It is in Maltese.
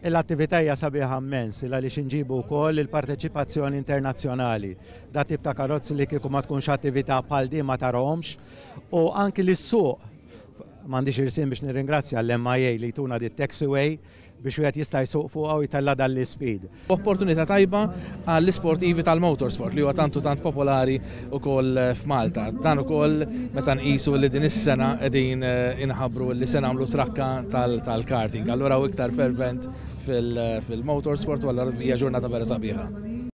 L-attività hija sabiħa immens għaliex inġibu wkoll il-parteċipazzjoni internazzjonali. Dat tip ta' karozzi li kieku ma tkunx attività bħal din ma tarahomx u anki lis-suq m'għandix irsim biex nirringrazzja l-MIA li jtuna di taxiway biex wieħed jista' jsuq fuqha u jtella' dan l-ispeed. Opportunità tajba għall-isportivi tal-motorsport li huwa tant u tant popolari wkoll f'Malta. Dan ukoll meta nqisu li din is-sena qegħdin inħabbru li se nagħmlu trakka tal-karting. Allura hu iktar fervent fil-motorsport u allura hija ġurnata vera sabiħa.